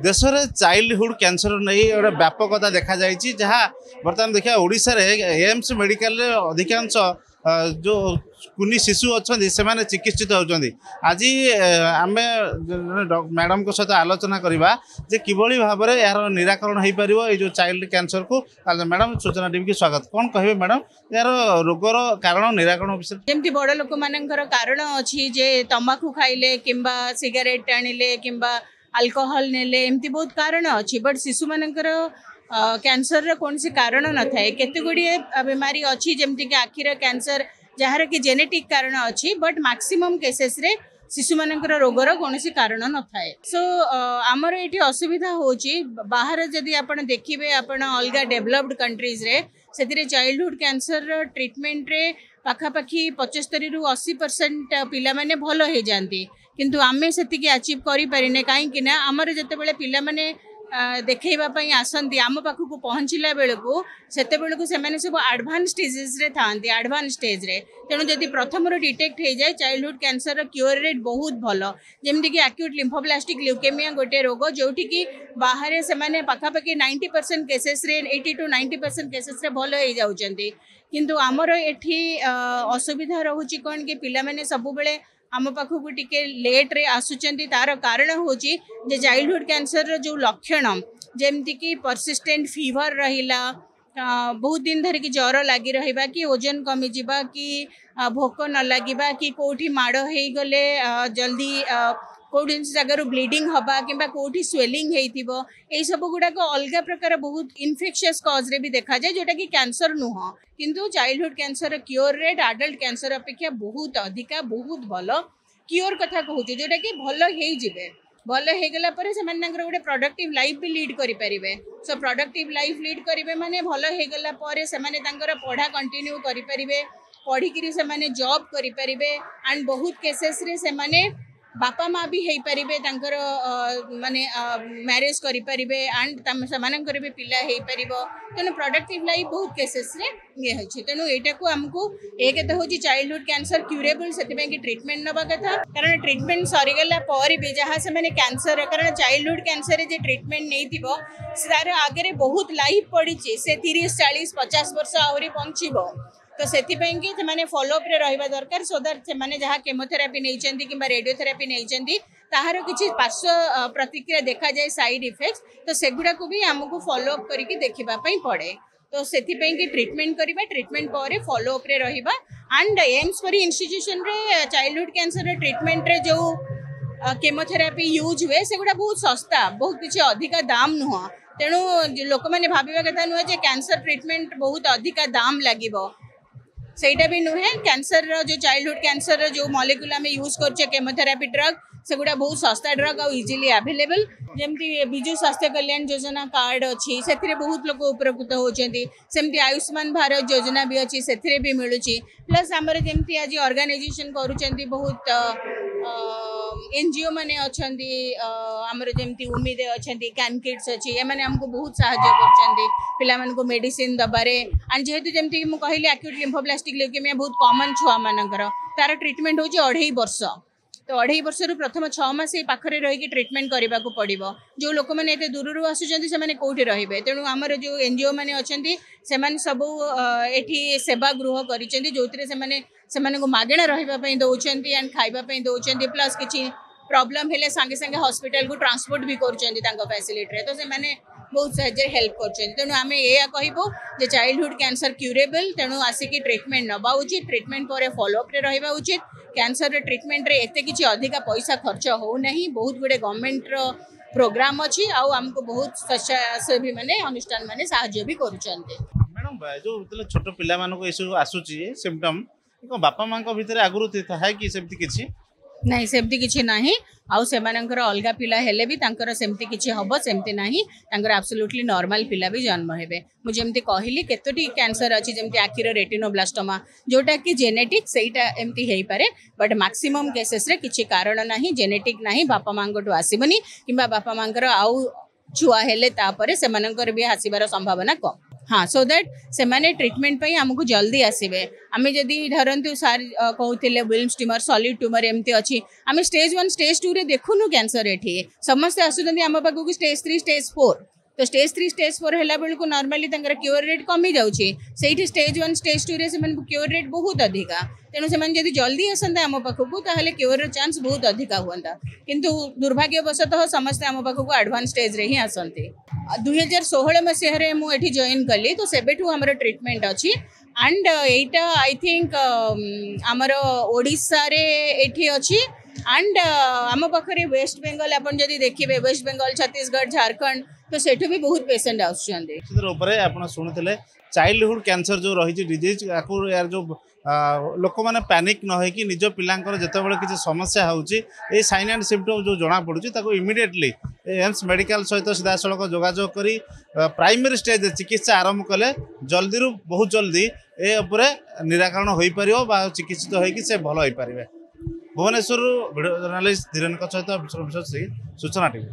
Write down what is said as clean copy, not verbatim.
ଦେଶରେ childhood cancer ନେଇ ଗୋଟେ ବ୍ୟାପକତା ଦେଖାଯାଇଛି, ଯାହା ବର୍ତ୍ତମାନ ଦେଖିବା ଓଡ଼ିଶାରେ ଏମ୍ସ ମେଡ଼ିକାଲରେ ଅଧିକାଂଶ ଯେଉଁ କୁନି ଶିଶୁ ଅଛନ୍ତି, ସେମାନେ ଚିକିତ୍ସିତ ହେଉଛନ୍ତି। ଆଜି ଆମେ ମ୍ୟାଡ଼ାମଙ୍କ ସହିତ ଆଲୋଚନା କରିବା ଯେ କିଭଳି ଭାବରେ ଏହାର ନିରାକରଣ ହୋଇପାରିବ ଏଇ ଯେଉଁ ଚାଇଲ୍ଡ କ୍ୟାନ୍ସରକୁ। ମ୍ୟାଡ଼ାମ, ସୂଚନା ଟିଭିକି ସ୍ୱାଗତ। କ'ଣ କହିବେ ମ୍ୟାଡ଼ାମ, ଏହାର ରୋଗର କାରଣ, ନିରାକରଣ ବିଷୟରେ? ଯେମିତି ବଡ଼ ଲୋକମାନଙ୍କର କାରଣ ଅଛି ଯେ ତମାଖୁ ଖାଇଲେ କିମ୍ବା ସିଗାରେଟ୍ ଟାଣିଲେ କିମ୍ବା ଆଲକୋହଲ ନେଲେ, ଏମିତି ବହୁତ କାରଣ ଅଛି। ବଟ୍ ଶିଶୁମାନଙ୍କର କ୍ୟାନ୍ସରର କୌଣସି କାରଣ ନଥାଏ। କେତେ ଗୁଡ଼ିଏ ବେମାରୀ ଅଛି, ଯେମିତିକି ଆଖିର କ୍ୟାନ୍ସର, ଯାହାର କି ଜେନେଟିକ୍ କାରଣ ଅଛି। ବଟ୍ ମାକ୍ସିମମ୍ କେସେସ୍ରେ ଶିଶୁମାନଙ୍କର ରୋଗର କୌଣସି କାରଣ ନଥାଏ। ସୋ ଆମର ଏଠି ଅସୁବିଧା ହେଉଛି, ବାହାରେ ଯଦି ଆପଣ ଦେଖିବେ, ଆପଣ ଅଲଗା ଡେଭଲପଡ କଣ୍ଟ୍ରିଜରେ, ସେଥିରେ ଚାଇଲ୍ଡହୁଡ୍ କ୍ୟାନ୍ସରର ଟ୍ରିଟମେଣ୍ଟରେ ପାଖାପାଖି 75ରୁ 80% ପିଲାମାନେ ଭଲ ହେଇଯାଆନ୍ତି। କିନ୍ତୁ ଆମେ ସେତିକି ଆଚିଭ୍ କରିପାରିନେ, କାହିଁକି ନା ଆମର ଯେତେବେଳେ ପିଲାମାନେ ଦେଖେଇବା ପାଇଁ ଆସନ୍ତି, ଆମ ପାଖକୁ ପହଞ୍ଚିଲା ବେଳକୁ ସେତେବେଳକୁ ସେମାନେ ସବୁ ଆଡ଼ଭାନ୍ସ ଡିଜିଜ୍ରେ ଥାଆନ୍ତି, ଆଡ଼ଭାନ୍ସ ଷ୍ଟେଜ୍ରେ। ତେଣୁ ଯଦି ପ୍ରଥମରୁ ଡିଟେକ୍ଟ ହେଇଯାଏ, ଚାଇଲ୍ଡହୁଡ୍ କ୍ୟାନ୍ସରର କ୍ୟୁଅର୍ ରେଟ୍ ବହୁତ ଭଲ। ଯେମିତିକି ଆକ୍ୟୁଟ୍ ଲିମ୍ଫୋବ୍ଲାଷ୍ଟିକ୍ ଲ୍ୟୁକେମିଆ ଗୋଟେ ରୋଗ, ଯେଉଁଠିକି ବାହାରେ ସେମାନେ ପାଖାପାଖି 90% କେସେସ୍ରେ, 80 ଟୁ 90% କେସେସ୍ରେ ଭଲ ହେଇଯାଉଛନ୍ତି। କିନ୍ତୁ ଆମର ଏଠି ଅସୁବିଧା ରହୁଛି କ'ଣ କି ପିଲାମାନେ ସବୁବେଳେ ଆମ ପାଖକୁ ଟିକେ ଲେଟ୍ରେ ଆସୁଛନ୍ତି। ତାର କାରଣ ହେଉଛି ଯେ ଚାଇଲ୍ଡହୁଡ୍ କ୍ୟାନ୍ସରର ଯେଉଁ ଲକ୍ଷଣ, ଯେମିତିକି ପରସିଷ୍ଟେଣ୍ଟ ଫିଭର ରହିଲା, ବହୁତ ଦିନ ଧରିକି ଜ୍ୱର ଲାଗି ରହିବା, କି ଓଜନ କମିଯିବା, କି ଭୋକ ନ ଲାଗିବା, କି କେଉଁଠି ମାଡ଼ ହେଇଗଲେ ଜଲ୍ଦି କେଉଁଠି ଜାଗାରୁ ବ୍ଲିଡ଼ିଂ ହେବା, କିମ୍ବା କେଉଁଠି ସ୍ୱେଲିଂ ହେଇଥିବ, ଏଇସବୁ ଗୁଡ଼ାକ ଅଲଗା ପ୍ରକାର ବହୁତ ଇନଫେକ୍ସିୟସ୍ କଜ୍ରେ ବି ଦେଖାଯାଏ, ଯେଉଁଟାକି କ୍ୟାନ୍ସର ନୁହଁ। କିନ୍ତୁ childhood cancer cure rate adult cancer ଅପେକ୍ଷା ବହୁତ ଅଧିକା, ବହୁତ ଭଲ। କ୍ୟୁଅର୍ କଥା କହୁଛୁ, ଯେଉଁଟାକି ଭଲ ହେଇଯିବେ। ଭଲ ହେଇଗଲା ପରେ ସେମାନେ ତାଙ୍କର ଗୋଟେ ପ୍ରଡକ୍ଟିଭ୍ ଲାଇଫ୍ ବି ଲିଡ୍ କରିପାରିବେ। ସୋ ପ୍ରଡକ୍ଟିଭ୍ ଲାଇଫ୍ ଲିଡ୍ କରିବେ ମାନେ ଭଲ ହେଇଗଲା ପରେ ସେମାନେ ତାଙ୍କର ପଢ଼ା କଣ୍ଟିନ୍ୟୁ କରିପାରିବେ, ପଢ଼ିକିରି ସେମାନେ ଜବ୍ କରିପାରିବେ, ଆଣ୍ଡ ବହୁତ କେସେସ୍ରେ ସେମାନେ ବାପା ମା ବି ହେଇପାରିବେ, ତାଙ୍କର ମାନେ ମ୍ୟାରେଜ୍ କରିପାରିବେ, ଆଣ୍ଡ ସେମାନଙ୍କର ବି ପିଲା ହେଇପାରିବ। ତେଣୁ ପ୍ରଡକ୍ଟିଭ୍ ଲାଇଫ୍ ବହୁତ କେସେସ୍ରେ ଇଏ ହେଉଛି। ତେଣୁ ଏଇଟାକୁ ଆମକୁ ଏକ ତ ହେଉଛି ଚାଇଲ୍ଡହୁଡ୍ କ୍ୟାନ୍ସର କ୍ୟୁରେବଲ୍, ସେଥିପାଇଁ କି ଟ୍ରିଟମେଣ୍ଟ ନେବା କଥା। କାରଣ ଟ୍ରିଟମେଣ୍ଟ ସରିଗଲା ପରେ ବି ଯାହା ସେମାନେ କ୍ୟାନ୍ସର, କାରଣ ଚାଇଲ୍ଡହୁଡ୍ କ୍ୟାନ୍ସରରେ ଯେ ଟ୍ରିଟମେଣ୍ଟ ନେଇଥିବ, ତାର ଆଗରେ ବହୁତ ଲାଇଫ୍ ପଡ଼ିଛି। ସେ 30, 40, 50 ବର୍ଷ ଆହୁରି ବଞ୍ଚିବ। ତ ସେଥିପାଇଁ କି ସେମାନେ ଫଲୋଅପ୍ରେ ରହିବା ଦରକାର, ସୋ that ସେମାନେ ଯାହା କେମୋଥେରାପି ନେଇଛନ୍ତି କିମ୍ବା ରେଡ଼ିଓଥେରାପି ନେଇଛନ୍ତି, ତାହାର କିଛି ପାର୍ଶ୍ୱ ପ୍ରତିକ୍ରିୟା ଦେଖାଯାଏ, ସାଇଡ୍ ଇଫେକ୍ଟ, ତ ସେଗୁଡ଼ାକୁ ବି ଆମକୁ ଫଲୋଅପ୍ କରିକି ଦେଖିବା ପାଇଁ ପଡ଼େ। ତ ସେଥିପାଇଁ କି ଟ୍ରିଟମେଣ୍ଟ କରିବା, ଟ୍ରିଟମେଣ୍ଟ ପରେ ଫଲୋଅପ୍ରେ ରହିବା। ଆଣ୍ଡ ଏମ୍ସ ପରି ଇନଷ୍ଟିଚ୍ୟୁସନରେ ଚାଇଲ୍ଡହୁଡ୍ କ୍ୟାନ୍ସରର ଟ୍ରିଟମେଣ୍ଟରେ ଯେଉଁ କେମୋଥେରାପି ୟୁଜ୍ ହୁଏ, ସେଗୁଡ଼ା ବହୁତ ଶସ୍ତା, ବହୁତ କିଛି ଅଧିକା ଦାମ ନୁହଁ। ତେଣୁ ଲୋକମାନେ ଭାବିବା କଥା ନୁହେଁ ଯେ କ୍ୟାନ୍ସର ଟ୍ରିଟମେଣ୍ଟ ବହୁତ ଅଧିକା ଦାମ ଲାଗିବ, ସେଇଟା ବି ନୁହେଁ। କ୍ୟାନ୍ସରର ଯେଉଁ ଚାଇଲ୍ଡହୁଡ୍ କ୍ୟାନ୍ସରର ଯେଉଁ ମଲିକୁଲ ଆମେ ୟୁଜ୍ କରୁଛେ, କେମୋଥେରାପି ଡ୍ରଗ୍, ସେଗୁଡ଼ା ବହୁତ ଶସ୍ତା ଡ୍ରଗ୍ ଆଉ ଇଜିଲି ଆଭେଲେବଲ୍। ଯେମିତି ବିଜୁ ସ୍ୱାସ୍ଥ୍ୟ କଲ୍ୟାଣ ଯୋଜନା କାର୍ଡ଼ ଅଛି, ସେଥିରେ ବହୁତ ଲୋକ ଉପକୃତ ହେଉଛନ୍ତି। ସେମିତି ଆୟୁଷ୍ମାନ ଭାରତ ଯୋଜନା ବି ଅଛି, ସେଥିରେ ବି ମିଳୁଛି। ପ୍ଲସ୍ ଆମର ଯେମିତି ଆଜି ଅର୍ଗାନାଇଜେସନ୍ କରୁଛନ୍ତି, ବହୁତ ଏନଜିଓ ମାନେ ଅଛନ୍ତି, ଆମର ଯେମିତି ଉମିଦ ଅଛନ୍ତି, କ୍ୟାନ୍ କିଡ୍ସ ଅଛି, ଏମାନେ ଆମକୁ ବହୁତ ସାହାଯ୍ୟ କରୁଛନ୍ତି ପିଲାମାନଙ୍କୁ ମେଡ଼ିସିନ ଦେବାରେ। ଆଣ୍ଡ ଯେହେତୁ ଯେମିତି ମୁଁ କହିଲି, ଆକ୍ୟୁଟ୍ ଲିମ୍ଫୋବ୍ଲାଷ୍ଟିକ୍ ଲ୍ୟୁକେମିଆ ବହୁତ କମନ୍ ଛୁଆମାନଙ୍କର, ତାର ଟ୍ରିଟମେଣ୍ଟ ହେଉଛି 2.5 ବର୍ଷ। ତ 2.5 ବର୍ଷରୁ ପ୍ରଥମ 6 ମାସ ଏଇ ପାଖରେ ରହିକି ଟ୍ରିଟମେଣ୍ଟ କରିବାକୁ ପଡ଼ିବ। ଯେଉଁ ଲୋକମାନେ ଏତେ ଦୂରରୁ ଆସୁଛନ୍ତି, ସେମାନେ କେଉଁଠି ରହିବେ? ତେଣୁ ଆମର ଯେଉଁ ଏନଜିଓ ମାନେ ଅଛନ୍ତି, ସେମାନେ ସବୁ ଏଠି ସେବା ଗୃହ କରିଛନ୍ତି, ଯେଉଁଥିରେ ସେମାନେ ସେମାନଙ୍କୁ ମାଗଣା ରହିବା ପାଇଁ ଦେଉଛନ୍ତି ଆଣ୍ଡ ଖାଇବା ପାଇଁ ଦେଉଛନ୍ତି। ପ୍ଲସ୍ କିଛି ପ୍ରୋବ୍ଲେମ୍ ହେଲେ ସାଙ୍ଗେ ସାଙ୍ଗେ ହସ୍ପିଟାଲକୁ ଟ୍ରାନ୍ସପୋର୍ଟ ବି କରୁଛନ୍ତି ତାଙ୍କ ଫ୍ୟାସିଲିଟିରେ। ତ ସେମାନେ ବହୁତ ସାହାଯ୍ୟରେ ହେଲ୍ପ କରୁଛନ୍ତି। ତେଣୁ ଆମେ ଏଇଆ କହିବୁ ଯେ ଚାଇଲ୍ଡହୁଡ୍ କ୍ୟାନ୍ସର କ୍ୟୁରେବଲ୍, ତେଣୁ ଆସିକି ଟ୍ରିଟମେଣ୍ଟ ନେବା ଉଚିତ, ଟ୍ରିଟମେଣ୍ଟ ପରେ ଫଲୋଅପ୍ରେ ରହିବା ଉଚିତ। କ୍ୟାନ୍ସରର ଟ୍ରିଟମେଣ୍ଟରେ ଏତେ କିଛି ଅଧିକା ପଇସା ଖର୍ଚ୍ଚ ହେଉନାହିଁ। ବହୁତ ଗୁଡ଼ିଏ ଗଭର୍ଣ୍ଣମେଣ୍ଟର ପ୍ରୋଗ୍ରାମ ଅଛି ଆଉ ଆମକୁ ବହୁତ ସ୍ୱେଚ୍ଛାସେବୀ ମାନେ, ଅନୁଷ୍ଠାନ ମାନେ ସାହାଯ୍ୟ ବି କରୁଛନ୍ତି। ମ୍ୟାଡ଼ାମ, ଯେଉଁ ଯେତେବେଳେ ଛୋଟ ପିଲାମାନଙ୍କୁ ଏସବୁ ଆସୁଛି ସିମ୍ପଟମ୍, କ'ଣ ବାପା ମାଆଙ୍କ ଭିତରେ ଆଗରୁ ଥାଏ କି ସେମିତି କିଛି? ନାଇଁ, ସେମିତି କିଛି ନାହିଁ। ଆଉ ସେମାନଙ୍କର ଅଲଗା ପିଲା ହେଲେ ବି ତାଙ୍କର ସେମିତି କିଛି ହବ, ସେମିତି ନାହିଁ। ତାଙ୍କର ଆବସୋଲ୍ୟୁଟଲି ନର୍ମାଲ ପିଲା ବି ଜନ୍ମ ହେବେ। ମୁଁ ଯେମିତି କହିଲି, କେତୋଟି କ୍ୟାନ୍ସର ଅଛି, ଯେମିତି ଆଖିର ରେଟିନୋବ୍ଲାଷ୍ଟୋମା, ଯେଉଁଟାକି ଜେନେଟିକ୍, ସେଇଟା ଏମିତି ହେଇପାରେ। ବଟ୍ ମାକ୍ସିମମ୍ କେସେସ୍ରେ କିଛି କାରଣ ନାହିଁ, ଜେନେଟିକ୍ ନାହିଁ, ବାପା ମାଆଙ୍କଠୁ ଆସିବନି, କିମ୍ବା ବାପା ମାଆଙ୍କର ଆଉ ଛୁଆ ହେଲେ ତାପରେ ସେମାନଙ୍କର ବି ଆସିବାର ସମ୍ଭାବନା କମ୍। ହଁ, ସୋ that ସେମାନେ ଟ୍ରିଟମେଣ୍ଟ ପାଇଁ ଆମକୁ ଜଲ୍ଦି ଆସିବେ। ଆମେ ଯଦି ଧରନ୍ତୁ ସାର୍ କହୁଥିଲେ ୱିଲ୍ମସ୍ ଟ୍ୟୁମର୍, ସଲିଡ୍ ଟ୍ୟୁମର୍ ଏମିତି ଅଛି, ଆମେ ଷ୍ଟେଜ୍ 1, ଷ୍ଟେଜ୍ 2ରେ ଦେଖୁନୁ କ୍ୟାନ୍ସର। ଏଠି ସମସ୍ତେ ଆସୁଛନ୍ତି ଆମ ପାଖକୁ ଷ୍ଟେଜ୍ 3, ଷ୍ଟେଜ୍ 4। ତ ଷ୍ଟେଜ୍ 3, ଷ୍ଟେଜ୍ 4 ହେଲା ବେଳକୁ ନର୍ମାଲି ତାଙ୍କର କ୍ୟୁଅର୍ ରେଟ୍ କମି ଯାଉଛି। ସେଇଠି ଷ୍ଟେଜ୍ 1, ଷ୍ଟେଜ୍ 2ରେ ସେମାନଙ୍କୁ କ୍ୟୁଅର୍ ରେଟ୍ ବହୁତ ଅଧିକା। ତେଣୁ ସେମାନେ ଯଦି ଜଲ୍ଦି ଆସନ୍ତେ ଆମ ପାଖକୁ, ତାହେଲେ କ୍ୟୁଅର୍ର ଚାନ୍ସ ବହୁତ ଅଧିକା ହୁଅନ୍ତା। କିନ୍ତୁ ଦୁର୍ଭାଗ୍ୟବଶତଃ ସମସ୍ତେ ଆମ ପାଖକୁ ଆଡ଼ଭାନ୍ସ ଷ୍ଟେଜ୍ରେ ହିଁ ଆସନ୍ତି। 2016 ମସିହାରେ ମୁଁ ଏଠି ଜଏନ୍ କଲି, ତ ସେବେଠୁ ଆମର ଟ୍ରିଟମେଣ୍ଟ ଅଛି। ଆଣ୍ଡ ଏଇଟା I think ଆମର ଓଡ଼ିଶାରେ ଏଠି ଅଛି, ଆଣ୍ଡ ଆମ ପାଖରେ ୱେଷ୍ଟ ବେଙ୍ଗଲ, ଆପଣ ଯଦି ଦେଖିବେ ୱେଷ୍ଟ ବେଙ୍ଗଲ, ଛତିଶଗଡ଼, ଝାଡ଼ଖଣ୍ଡ, ତ ସେଠୁ ବି ବହୁତ ପେସେଣ୍ଟ ଆସୁଛନ୍ତି। ନିଶ୍ଚିତ ରୂପରେ ଆପଣ ଶୁଣୁଥିଲେ, ଚାଇଲ୍ଡହୁଡ୍ କ୍ୟାନ୍ସର ଯେଉଁ ରହିଛି ଡିଜିଜ୍, ଆକୁ ଏହାର ଯେଉଁ ଲୋକମାନେ ପ୍ୟାନିକ୍ ନ ହେଇକି ନିଜ ପିଲାଙ୍କର ଯେତେବେଳେ କିଛି ସମସ୍ୟା ହେଉଛି, ଏଇ ସାଇନ୍ ଆଣ୍ଡ ସିମ୍ପଟମ୍ ଯେଉଁ ଜଣାପଡ଼ୁଛି, ତାକୁ ଇମିଡ଼ିଏଟଲି ଏମ୍ସ ମେଡ଼ିକାଲ ସହିତ ସିଧାସଳଖ ଯୋଗାଯୋଗ କରି ପ୍ରାଇମେରୀ ଷ୍ଟେଜ୍ରେ ଚିକିତ୍ସା ଆରମ୍ଭ କଲେ ଜଲ୍ଦିରୁ ବହୁତ ଜଲ୍ଦି ଏ ଉପରେ ନିରାକରଣ ହୋଇପାରିବ ବା ଚିକିତ୍ସିତ ହୋଇକି ସେ ଭଲ ହୋଇପାରିବେ। ଭୁବନେଶ୍ୱରରୁ ଭିଡ଼ିଓ ଜର୍ଣ୍ଣାଲିଷ୍ଟ ଧୀରେନଙ୍କ ସହିତ ବିଶ୍ୱ ବିଶ୍ୱାସ, ସୂଚନା ଟିଭି।